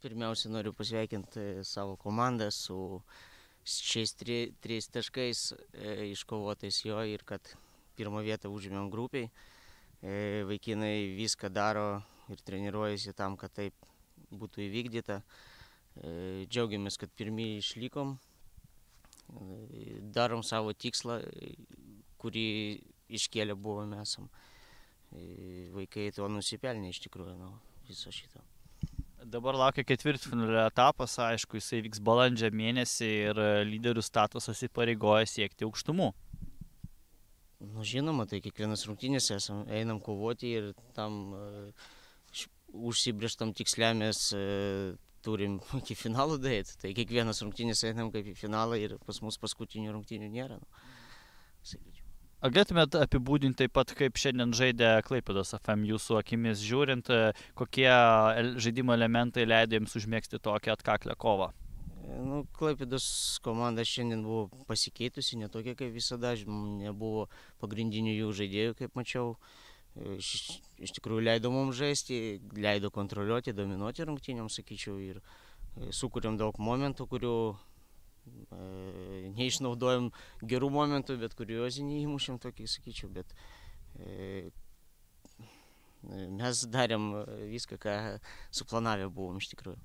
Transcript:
Pirmiausia, noriu pasveikinti savo komandą su šiais trijais taškais iškovotais jo ir kad pirmą vietą užėmėm grupiai. Vaikinai viską daro ir treniruojasi tam, kad taip būtų įvykdyta. Džiaugiamės, kad pirmieji išlikom. Darom savo tikslą, kurį iškėlę buvome esam. Vaikai to nusipelnė iš tikrųjų viso šito. Dabar laukia ketvirtfinalio etapas, aišku, jisai vyks balandžio mėnesį ir lyderių statusas įpareigoja siekti aukštumų. Žinoma, tai kiekvienas rungtynės einam kovoti ir tam užsibrėžtam tiksliam mes turim iki finalo daeiti. Tai kiekvienas rungtynės einam kaip į finalą ir pas mus paskutinių rungtynių nėra. Sakyčiau. Ar galėtumėt apibūdinti taip pat, kaip šiandien žaidė Klaipėdos FM jūsų akimis žiūrint, kokie žaidimo elementai leido jums užmėgsti tokią atkaklę kovą? Klaipėdos komanda šiandien buvo pasikeitusi, ne tokia kaip visada, nebuvo pagrindinių jų žaidėjų, kaip mačiau. Iš tikrųjų leido mums žaisti, leido kontroliuoti, dominuoti rungtynėm, sakyčiau, ir sukūrėm daug momentų, kurių neišnaudojom gerų momentų, bet kuriozinį įmušėm tokį, sakyčiau, bet mes darėm viską, ką suplanavę buvom iš tikrųjų.